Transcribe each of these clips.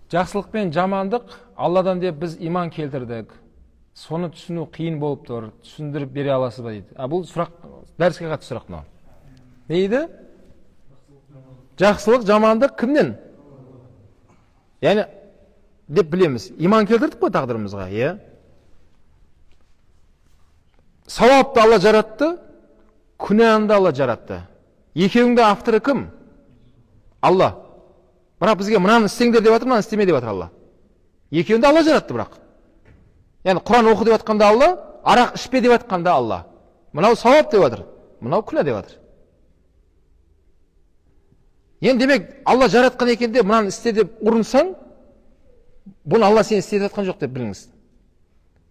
Жақсылық пен жамандық Алладан деп біз иман келтірдік. Соны түсіну қиын болып тұр. Түсіндіріп бере аласыз ба дейді. Бұл сұрақ, дәріске қатысты сұрақ мынау. Не дейді? Жақсылық, жамандық кімнен? Яғни деп білеміз. Иман келтірдік қой тағдырымызға, иә? Сауапты Алла жаратты, күнәні Алла жаратты. Екеуінде авторы кім? Алла. Бірақ бізге мынаны істеңдер деп жатыр, мынаны істеме деп жатыр Алла. Екеуінде Алла жаратты бірақ. Яғни Құран оқы деп жатқанда Алла, арақ ішпе деп жатқанда Алла. Мынау сауап деп жатыр, мынау күнә деп жатыр. Енді демек Алла жаратқан екен де мынаны істе деп ұрынсаң, бұны Алла сені істетіп жатқан жоқ деп біліңіз.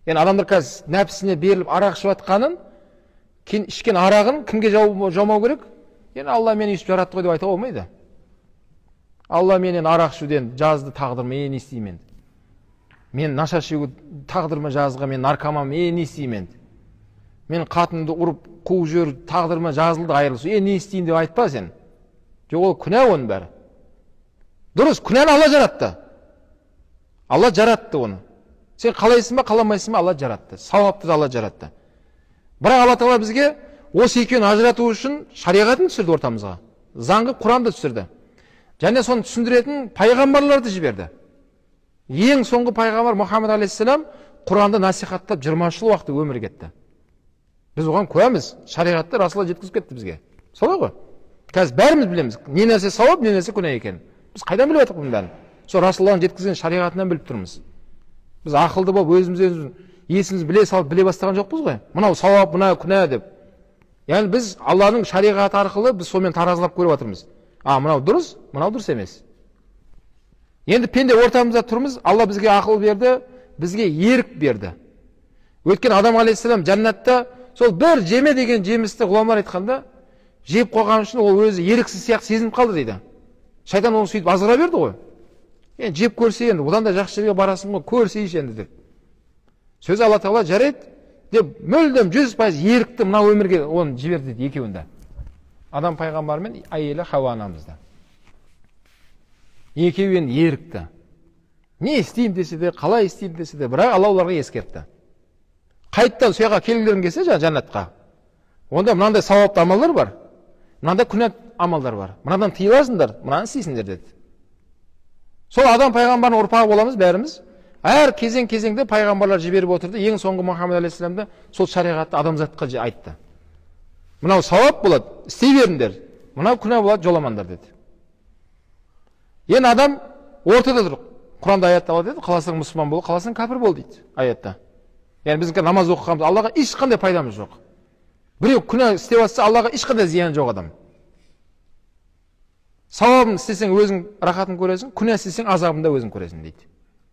Яғни адамдар қазір нәпсісіне беріліп арақ ішіп жатқанын, ішкен арағын кімге жаумау керек? Яғни Алла мені өйстіп жаратты ғой деп айта болмайды. Алла менен арақ ішуден жазды тағдырыма, не істеймін? Мен наша шегу тағдырыма жазға, мен наркоман, не істеймін? Мен қатынды ұрып қуып жібер тағдырыма жазылды айырылысу, не істейін деп айтпа сен. Жоқ, ол күнә оның бәрі. Дұрыс, күнәні Алла жаратты. Алла жаратты оны. Сен қалайсың ба, қаламайсың ба, Алла жаратты. Сауапты да Алла жаратты. Бірақ Алла Тағала бізге осы екеуін ажырату үшін шариғатын түсірді ортамызға. Заңғы Құранды түсірді. Және соны түсіндіретін пайғамбарларды жіберді. Ең соңғы пайғамбар Мұхаммед алейхиссалам Құранды насихаттап 20 жыл уақыт өмір кетті. Біз оған куәміз. Шариғатты Расулалла жеткізіп кетті бізге. Солай ғой? Қазір бәріміз білеміз. Не нәрсе сауап, не нәрсе күнә екенін. Біз қайдан біліп жатырмыз бұның бәрін? Сол Расулалланың жеткізген шариғатынан біліп тұрмыз. Біз ақылды болып өзіміз есіміз біле салып біле бастаған жоқпыз ғой. Мынау сауап, мынау күнә деп. Яғни біз Алланың шариғаты арқылы біз сонымен таразылап көріп жатырмыз. Мынау дұрыс емес. Енді пенде ортамызда тұрмыз, Алла бізге ақыл берді, бізге ерік берді. Өткен Адам алейхиссалам жәннатта сол бір жеме деген жемісті ғұламалар айтқанда, жеп қойған үшін ол өзі еріксіз сияқты сезініп қалды дейді. Шайтан оны сөйтіп азғыра берді ғой. Енді жеп көрсе енді, одан да жақсы жерге барасың ғой, көрсейші енді деп. Сөз Алла Тағала жарайды деп мүлдем 100% ерікті мына өмірге оны жіберді дейді екеуінде. Адам пайғамбар мен әйелі Хауа анамызда. Екеуі енді ерікті. Не істеймін десе де, қалай істеймін десе де, бірақ Алла оларға ескертті. Қайттан сояға келгілерің келсе жәннатқа. Онда мынандай сауапты амалдар бар, мынандай күнә амалдар бар. Мынадан тыйыласыңдар, мынаны істейсіңдер деді. Сол адам пайғамбардың ұрпағы боламыз бәріміз. Әр кезең-кезеңде пайғамбарлар жіберіп отырды. Ең соңғы Мұхаммед алейхиссаламда сол шариғатты адамзатқа айтты. Мынау сауап болады, істей беріңдер. Мынау күнә болады, жоламаңдар деді. Енді адам ортада тұр. Құранда аятта Алла деді, қаласаң мұсылман бол, қаласаң кәпір бол дейді аятта. Яғни біздің намаз оқығанымыз Аллаға ешқандай пайдамыз жоқ. Біреу күнә істеп жатса Аллаға ешқандай зияны жоқ адам. Сауабын істесең өзің рахатын көресің, күнә істесең азабын да өзің көресің дейді.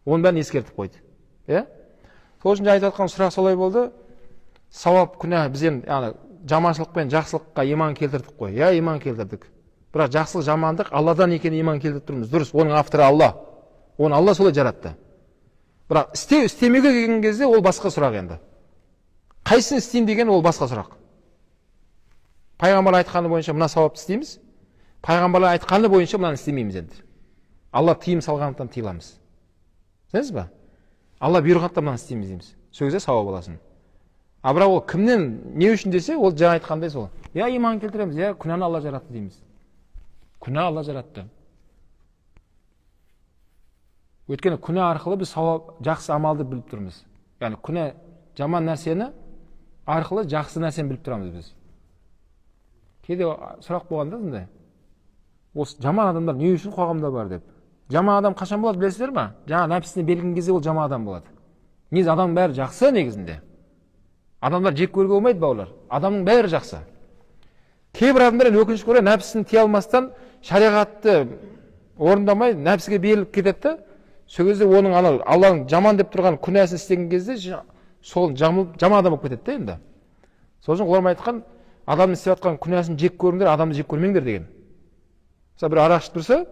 Оның бәрін ескертіп қойды. Сол үшін айтып жатқан сұрақ солай болды. Сауап, күнә, біз енді жаманшылық пен жақсылыққа иман келтірдік қой. Иман келтірдік. Бірақ жақсылық, жамандық Алладан екеніне иман келтіріп тұрмыз. Дұрыс, оның авторы Алла. Оны Алла солай жаратты. Бірақ істемеуге келген кезде ол басқа сұрақ енді. Қайсысын істеймін деген ол басқа сұрақ. Пайғамбар айтқаны бойынша мына сауапты істейміз. Пайғамбарлар айтқаны бойынша мынаны істемейміз енді. Алла тыйым салғандықтан тыйыламыз. Сенесіз ба? Алла бұйырғандықтан мынаны істейміз дейміз. Сол кезде сауап аласың. Бірақ ол кімнен, не үшін десе, ол жаңа айтқандай сол. Иман келтіреміз, күнәні Алла жаратты дейміз. Күнә Алла жаратты. Өйткені күнә арқылы біз сауап, жақсы амалды біліп тұрмыз. Яғни күнә жаман нәрсені арқылы жақсы нәрсені біліп тұрамыз біз. Кейде сұрақ болғанда сондай. Осы жаман адамдар не үшін қоғамда бар деп. Жаман адам қашан болады білесіздер ме? Жаңа нәпсісіне берілген кезде ол жаман адам болады. Негізі адам бәрі жақсы негізінде. Адамдар жек көруге болмайды бауырлар. Адамның бәрі жақсы. Кейбір адамдар өкінішке орай нәпсісін тия алмастан шариғатты орындамай нәпсіге беріліп кетеді. Сол кезде оның Алланың жаман деп тұрған күнәсін істеген кезде сол жаман адам болып кетеді енді. Сол үшін олар айтқан адамның істеп жатқан күнәсін жек көріңдер, адамды жек көрмеңдер деген. Мысалы бір арақ ішіп тұрса,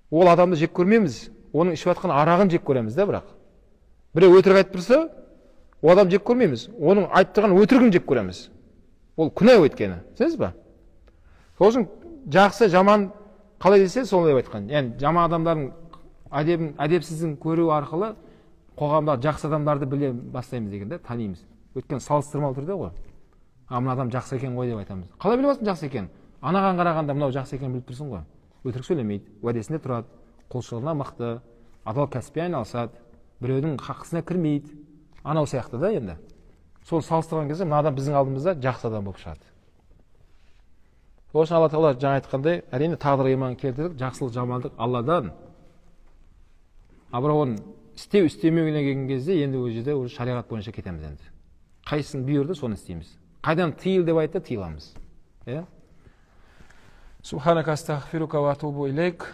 ол адамды жек көрмейміз. Оның ішіп жатқан арағын жек көреміз да, бірақ. Біреу өтірік айтып тұрса, ол адам жек көрмейміз. Оның айтып тұрған өтірігін жек көреміз. Ол күнә өткені. Сенесіз ба? Сол үшін жақсы, жаман қалай десе, солай айтқан. Яғни жаман адамдардың әдепсіздің көру арқылы қоғамда жақсы адамдарды біле бастаймыз деген да, танимыз. Өйткені салыстырмалы түрде ғой. Мына адам жақсы екен ғой деп айтамыз. Қалай біліп аласың жақсы екен? Анаған қарағанда мынау жақсы екенін біліп тұрсың ғой. Өтірік сөйлемейді, уәдесінде тұрады, құлшылығына мықты, адал кәсіппен айналысады, біреудің хақысына кірмейді. Анау сияқты да енді. Сол салыстырған кезде мына адам біздің алдымызда жақсы адам болып шығады. Сол үшін Алла Тағала жаңа айтқандай, әрине тағдырға иман келтірдік, жақсылық, жамандық Алладан. Бірақ оны істемеуіне келген кезде енді ол жерде шариғат бойынша кетеміз енді. Қайсысын бұйырды, соны істейміз. Қайдан тыйыл деп айтты, тыйыламыз. Субханака астағфирука ва атубу илейк.